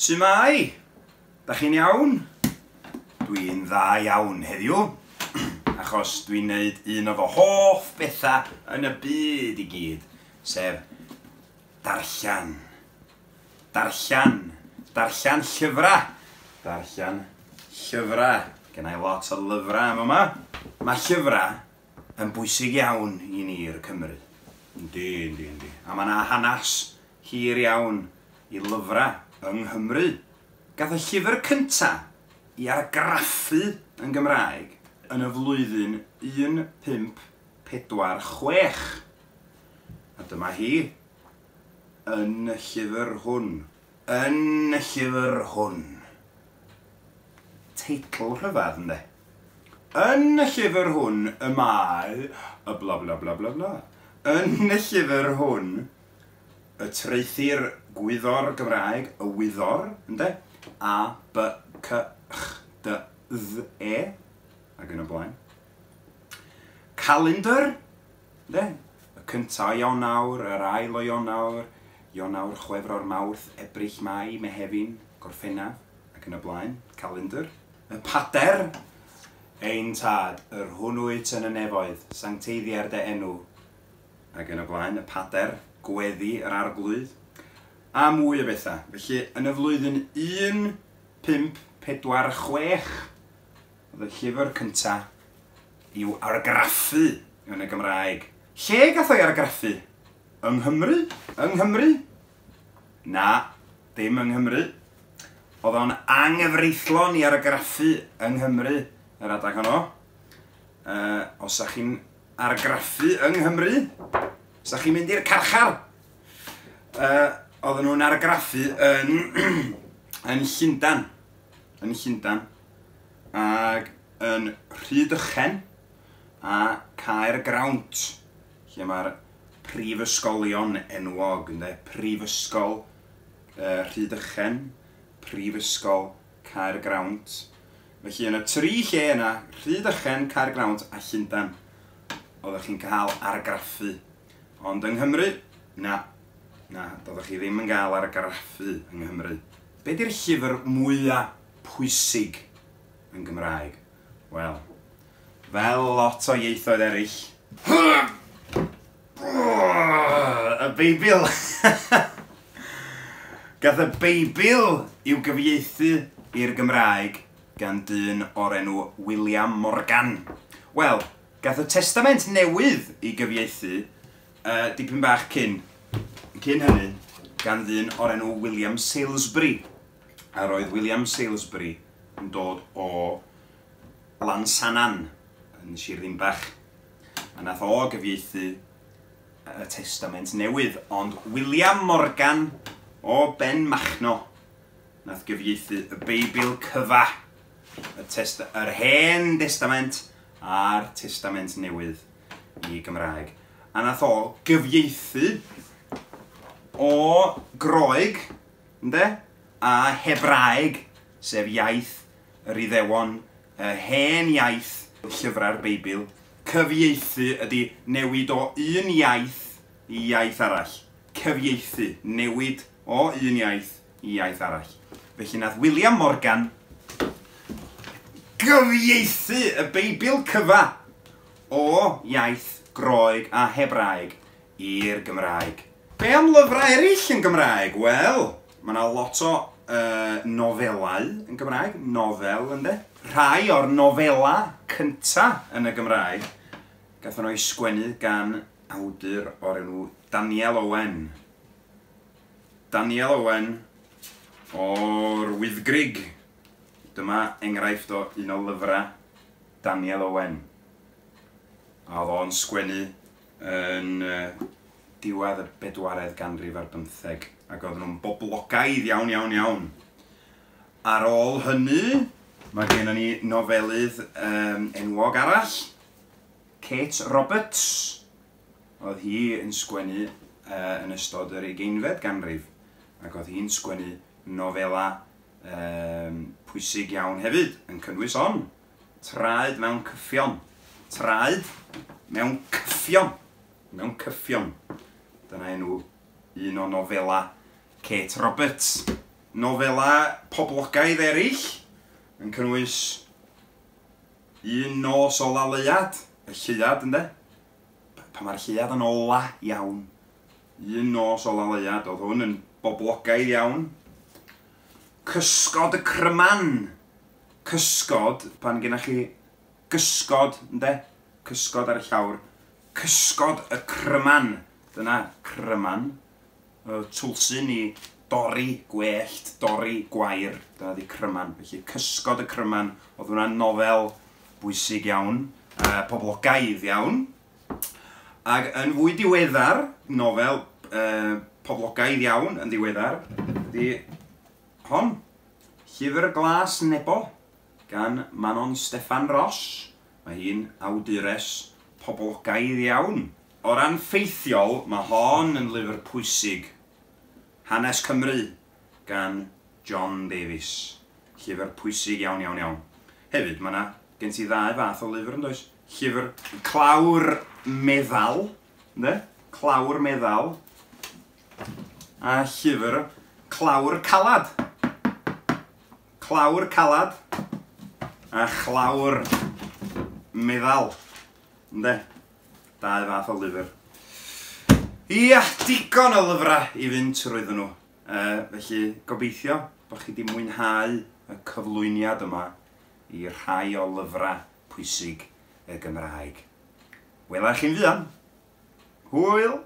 Su'mai? Da chi'n iawn? Dwi'n dda iawn heddiw, achos dwi'n neud un o fy hoff bethau yn y byd i gyd, sef darllen. Darllen. Darllen llyfrau. Darllen llyfrau. Gen i lot o lyfrau am yma. Mae llyfrau yn bwysig iawn i ni'r Cymry. Yndi, yndi, yndi. A mae yna hanes hir iawn i lyfrau yng Nghymru. Gath y llyfr cynta i argraffu yn Gymraeg yn y flwyddyn 1546. A dyma hi yn y llyfr hwn. Yn y llyfr hwn. Teitl rhyfedd, ynddi? Yn y llyfr hwn y mae y bla bla bla bla bla. Yn y llyfr hwn y traethir gwyddor Gymraeg, y wyddor, ynde? A, B, C, Ch, D, Dd, E, ac yn y blaen. Calendar, ynde? Y cynta o Ionawr, yr ail o Ionawr, Ionawr, Chwefror, Mawrth, Ebrill, Mai, Mehefin, Gorffennaf, ac yn y blaen. Calendar. Y pader, ein tad, yr hwn wyt yn y nefoedd, sancteiddier dy enw, ac yn y blaen, y pader, gweddi yr arglwydd, a mwy o bethau. Felly, yn y flwyddyn 1546, oedd y llyfr cynta i'w argraffu yn y Gymraeg. Lle gath o'i argraffu? Yng Nghymru? Yng Nghymru? Na, dim yng Nghymru. Oedd o'n anghyfreithlon i argraffu yng Nghymru yr adeg honno. Os ydych chi'n argraffu yng Nghymru, sa chi'n mynd i'r carchar. Oedden nhw'n argraffu yn, yn Llundan. Yn Llundan. Ac yn Rhydychen a Caergrawnt, lle mae'r prifysgolion enwog, ynde? Prifysgol Rhydychen, Prifysgol Caergrawnt. Felly yn y tri lle yna, Rhydychen, Caergrawnt a Llundain, oeddech chi'n cael argraffu. Ond yng Nghymru, na, na, doeddech chi ddim yn cael argraffu yng Nghymru. Be di'r llyfr mwyaf pwysig yn Gymraeg? Wel, fel lot o ieithoedd eraill, y Beibl! Gath y Beibl i'w gyfieithu i'r Gymraeg gan dyn o'r enw William Morgan. Wel, gath y Testament Newydd ei gyfieithu dipyn bach cyn, cyn hynny gan ddyn o'r enw William Salesbury. A roedd William Salesbury yn dod o Lansannan yn Sir Ddinbych. A nath o gyfieithu y Testament Newydd, ond William Morgan o Benmachno nath gyfieithu y Beibl cyfa, y test yr Hen Destament a'r Testament Newydd i Gymraeg. A nath o gyfieithu o Groeg, ynde, a Hebraeg, sef iaith yr Iddewon, y hen iaith llyfrau'r Beibl. Cyfieithu ydy newid o un iaith i iaith arall. Cyfieithu, newid o un iaith i iaith arall. Felly nath William Morgan gyfieithu y Beibl cyfa o iaith Groeg a Hebraeg i'r Gymraeg. Be am lyfrau eraill yn Gymraeg? Wel, mae yna lot o nofelau yn Gymraeg. Nofel, ynde? Rhai o'r nofelau cynta yn y Gymraeg gathon nhw eu sgwennu gan awdur o'r enw Daniel Owen. Daniel Owen o'r Wyddgrug. Dyma enghraifft o un o lyfrau Daniel Owen. A oedd o'n sgwennu yn diwedd y bedwaredd ganrif ar bymtheg, ac oedden nhw'n boblogaidd iawn, iawn, iawn. Ar ôl hynny, mae gennym ni nofelydd enwog arall, Kate Roberts. Oedd hi yn sgwennu yn ystod yr ugeinfed ganrif, ac oedd hi'n sgwennu nofela pwysig iawn hefyd, yn cynnwys on, Traed mewn cyffion. Traed mewn cyffion. Mewn cyffion. Dyna enw un o nofela Kate Roberts. Nofela poblogaidd eraill yn cynnwys Un Nos Ola Leuad, y lleuad ynde? Pan mae'r lleuad yn ola iawn. Un Nos Ola Leuad, oedd hwn yn boblogaidd iawn. Cysgod y Cryman. Cysgod, pan gennych chi gysgod, ynde? Cysgod ar y llawr. Cysgod y Cryman. Dyna cryman. Y twlsyn i dorri gwellt, dorri gwair. Dyna 'di cryman. Felly Cysgod y Cryman, oedd hwnna'n nofel bwysig iawn, poblogaidd iawn. Ac yn fwy diweddar, nofel poblogaidd iawn yn ddiweddar, ydy hon, Llyfr Glas Nebo, gan Manon Steffan Ros. Mae hi'n awdures poblogaidd iawn. O ran ffeithiol, mae hon yn lyfr pwysig. Hanes Cymru gan John Davies. Llyfr pwysig iawn, iawn, iawn. Hefyd, mae yna gen ti ddau fath o lyfr, yn does? Llyfr clawr meddal, ynde? Clawr meddal. A llyfr clawr calad. Clawr calad a chlawr meddal. Ynde? Dau fath o lyfr. Ia, digon o lyfrau i fynd trwyddyn nhw. Felly, gobeithio bod chi wedi mwynhau y cyflwyniad yma i rhai o lyfrau pwysig y Gymraeg. Wela chi'n fuan. Hwyl!